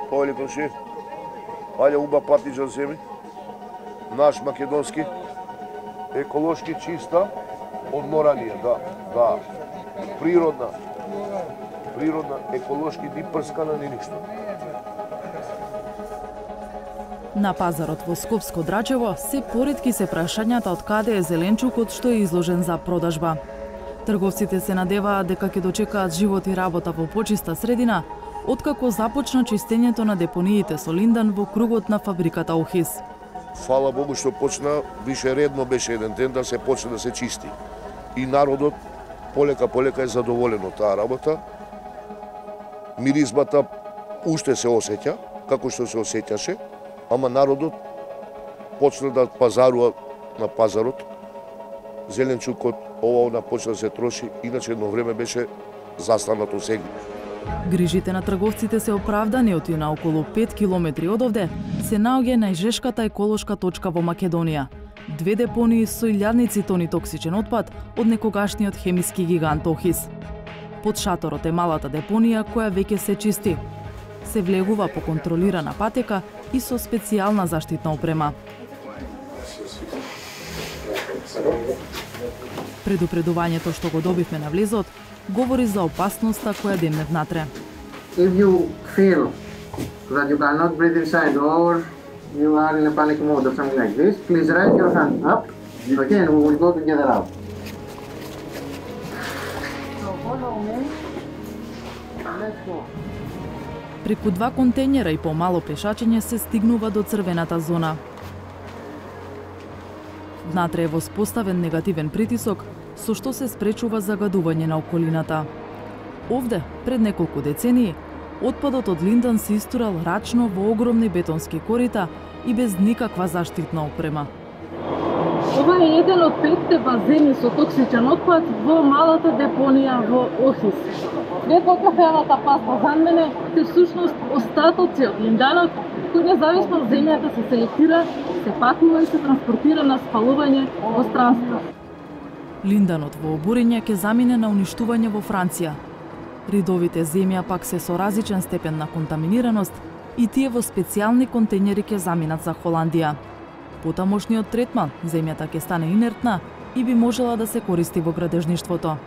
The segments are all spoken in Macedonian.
Повели комши, ајде уба патиџан земи, наш македонски, еколошки чиста, од морање, да. Природна, еколошки, ни прскана, ни ништо. На пазарот во Скопско Драчево се поретки се прашањата од каде е зеленчукот што е изложен за продажба. Трговците се надеваат дека ќе дочекаат живот и работа во почиста средина, откако започна чистењето на депониите со линдан во кругот на фабриката Охис. Фала Богу што почна, више редно беше еден ден да се почне да се чисти. И народот полека е задоволен од таа работа. Миризбата уште се осеќа, како што се осеќаше, ама народот почна да пазарува на пазарот. Зеленчукот ова почна да се троши, иначе едно време беше застанато сега. Грижите на трговците се оправдани оти на околу 5 километри одовде се наоѓа најжешката еколошка точка во Македонија. 2 депонии со илјадници тони токсичен отпад од некогашниот хемиски гигант Охис. Под шаторот е малата депонија која веќе се чисти. Се влегува по контролирана патека и со специјална заштитна опрема. Предупредувањето што го добивме на влезот говори за опасноста која демне внатре. If you feel that you cannot breathe inside or you are in a panic mode or something like this, please raise your hand up. Okay, and we will go together out. So follow me. Let's go. Преку 2 контејнера и помало пешачење се стигнува до црвената зона. Внатре е воспоставен негативен притисок, со што се спречува загадување на околината. Овде, пред неколку децении, отпадот од линдан се истурал рачно во огромни бетонски корита и без никаква заштитна опрема. Ова е еден од 5 базени со токсичен отпад во малата депонија во Охис. Пред во кафеавата паста за мене се всушност остатоци од линданот, кој независно од земјата се селектира, се пакува и се транспортира на спалување во странство. Линданот во обурење ќе замине на уништување во Франција. Ридовите земја пак се со различен степен на контаминираност и тие во специјални контејнери ќе заминат за Холандија. Потамошниот третман, земјата ќе стане инертна и би можела да се користи во градежништвото.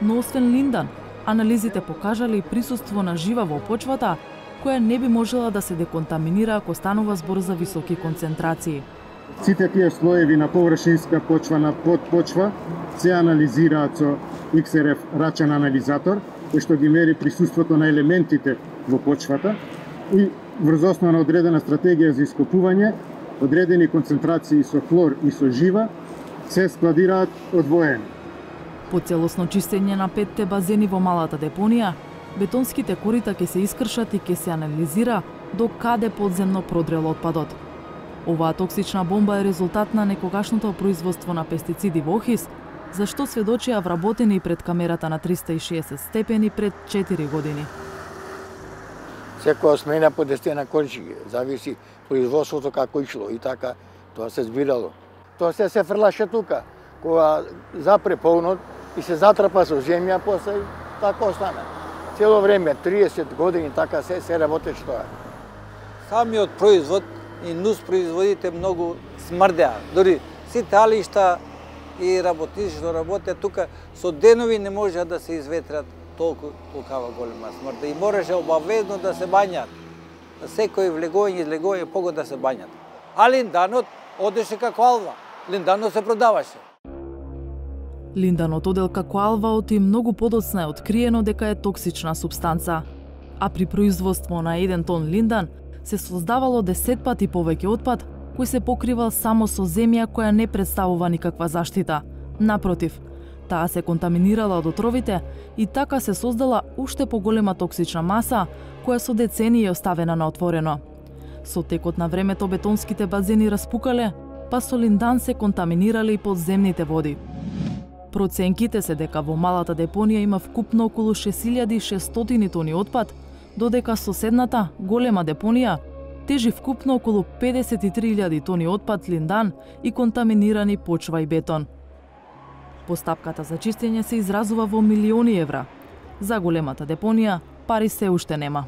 Но освен линдан, анализите покажале и присуство на жива во почвата, која не би можела да се деконтаминира ако станува збор за високи концентрации. Сите тие слоеви на површинска почва на подпочва се анализираат со XRF рачен анализатор, кој што ги мери присуството на елементите во почвата и врз основа на одредена стратегија за ископување, одредени концентрации со хлор и со жива се складираат одвоено. По целосно чистење на 5 базени во малата депонија, бетонските корита ќе се искршат и ќе се анализира до каде подземно продрел отпадот. Оваа токсична бомба е резултат на некогашното производство на пестициди во Охис, за што сведочија вработени пред камерата на 360 степени пред 4 години. Секоја смена по 10 кончиги, зависи производството како ишло и така тоа се збирало. Тоа се фрлаше тука, кога запре полнот и се затрпа со земја, после така остана. Цело време, 30 години, така се работеше тоа. Самиот производ и нус производите многу смрдеа. Дори сите алишта и работници што работеа тука со денови не можеа да се изветрат толкова голема смрда и мораше обавезно да се бањат. Секој влегување и излегување погод да се бањат. А линданот одеше како алва. Линданот се продаваше. Линданот одел како алва оти многу подоцна е откриено дека е токсична супстанца. А при производство на 1 тон линдан се создавало 10 пати повеќе отпад, кој се покривал само со земја која не представува никаква заштита. Напротив, таа се контаминирала од отровите и така се создала уште поголема токсична маса, која со децении е оставена на отворено. Со текот на времето бетонските базени распукале, па со линдан се контаминирале и подземните води. Проценките се дека во малата депонија има вкупно околу 6600 тони отпад, додека соседната, голема депонија, тежи вкупно околу 53.000 тони отпад линдан и контаминирани почва и бетон. Постапката за чистење се изразува во милиони евра. За големата депонија пари се уште нема.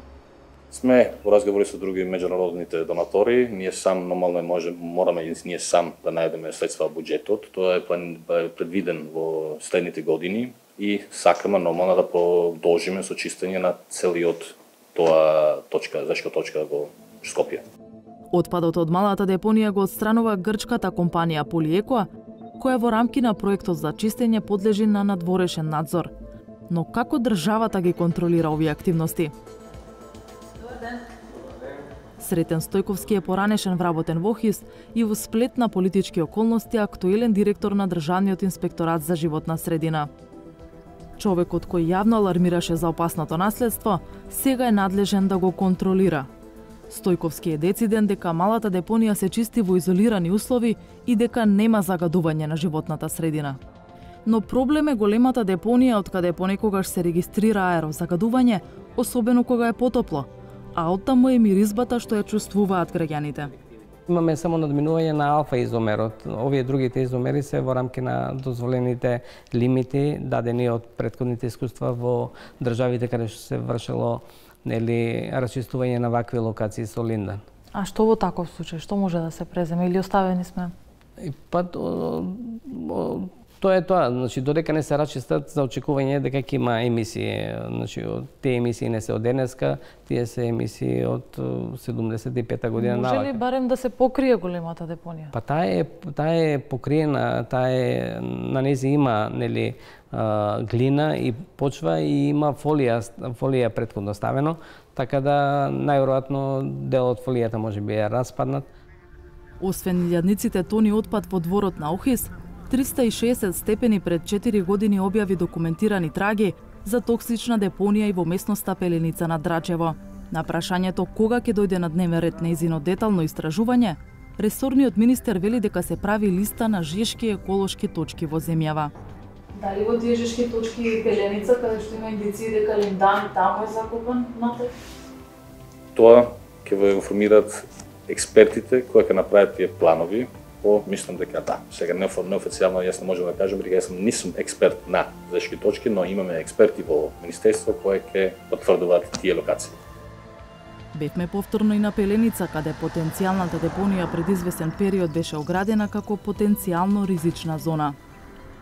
Сме во разговори со други меѓународните донатори, ние сам нормално мораме и ние сам да најдеме средства во буџетот. Тоа е предвиден во следните години и сакаме нормално да продолжиме со чистење на целиот тоа зашка точка во Скопје. Отпадот од малата депонија го отстранува грчката компанија Полиеко, која во рамки на проектот за чистење подлежи на надворешен надзор. Но како државата ги контролира овие активности? Сретен Стојковски е поранешен вработен во ОХИС и во сплет на политички околности актуелен директор на Државниот инспекторат за животна средина. Човекот кој јавно алармираше за опасното наследство, сега е надлежен да го контролира. Стојковски е дециден дека малата депонија се чисти во изолирани услови и дека нема загадување на животната средина. Но проблем е големата депонија од каде понекогаш се регистрира аерозагадување, особено кога е потопло, а оттаму е миризбата што ја чувствуваат граѓаните. Имаме само надминување на алфа изомерот. Овие другите изомери се во рамки на дозволените лимити дадени од претходните искуства во државите каде што се вршело расчистување на вакви локации со линдан. А што во таков случај? Што може да се преземе или оставени сме? Тоа е тоа, значи додека не се расчистат за очекување дека ќе има емисии, значи тие емисии не се од денеска, тие се емисии од 75-та година навака. Може ли барем да се покрие големата депонија? Па таа е покриена, на нејзи има глина и почва и има фолија претходно ставено, така да најверојатно дел од фолијата можеби е распаднат. Освен илјадниците тони отпад во дворот на ОХИС, 360 степени пред 4 години објави документирани траги за токсична депонија и во местноста Пеленица на Драчево. На прашањето кога ќе дојде на дневен ред нејзино детално истражување, ресорниот министер вели дека се прави листа на жешки еколошки точки во земјава. Дали во тие жешки точки Пеленица, каде што има индиции дека линдан таму е закопан внатре? Тоа ќе ве информираат експертите кои ќе направат тие планови. Мислам дека да. Сега неофицијално јас не можам да кажам, дека јас нисум експерт на жешки точки, но имаме експерти во министерство кои ќе потврдуваат тие локации. Бевме повторно и на Пеленица, каде потенцијалната депонија пред известен период беше оградена како потенцијално ризична зона.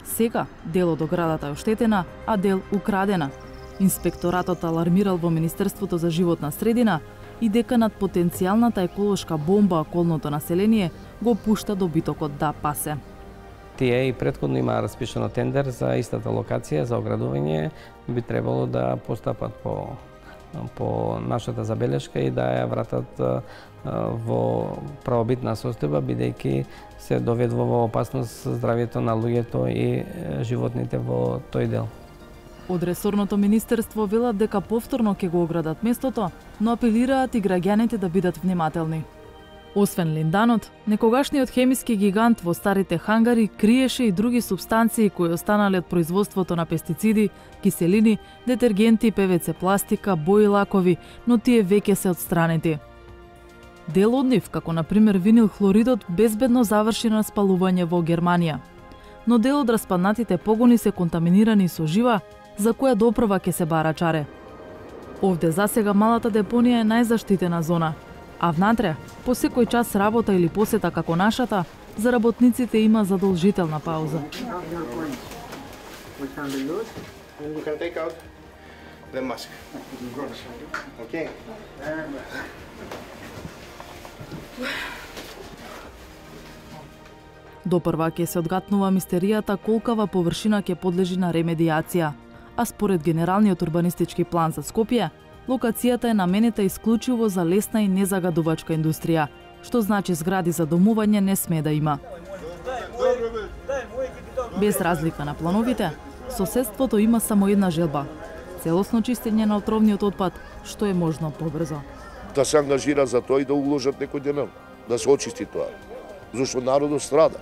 Сега дел од оградата е оштетена, а дел украдена. Инспекторатот алармирал во Министерството за животна средина и дека над потенцијалната еколошка бомба околното население го пушта добитокот да пасе. Тие и претходно има распишано тендер за истата локација за оградување, би требало да постапат по нашата забелешка и да ја вратат во правобитна состојба, бидејќи се доведува во опасност здравјето на луѓето и животните во тој дел. Од ресорното министерство велат дека повторно ќе го оградат местото, но апелираат и граѓаните да бидат внимателни. Освен линданот, некогашниот хемиски гигант во старите хангари криеше и други супстанции кои останале од производството на пестициди, киселини, детергенти, ПВЦ пластика, бои, лакови, но тие веќе се отстранети. Дел од нив, како на пример винил хлоридот, безбедно заврши на спалување во Германија. Но дел од распаднатите погони се контаминирани со жива, за која допрва ќе се бара чаре. Овде засега малата депонија е најзаштитена зона, а внатре, по секој час работа или посета како нашата, за работниците има задолжителна пауза. Допрва ќе се одгатнува мистеријата колкава површина ќе подлежи на ремедијација, а според Генералниот урбанистички план за Скопје, локацијата е наменета исклучиво за лесна и незагадувачка индустрија, што значи згради за домување не sme да има. Без разлика на плановите, соседството има само една желба – целосно чистење на отровниот отпад, што е можно побрзо. Да се ангажира за тоа и да уложат некој денар, да се очисти тоа, зашто народот страда.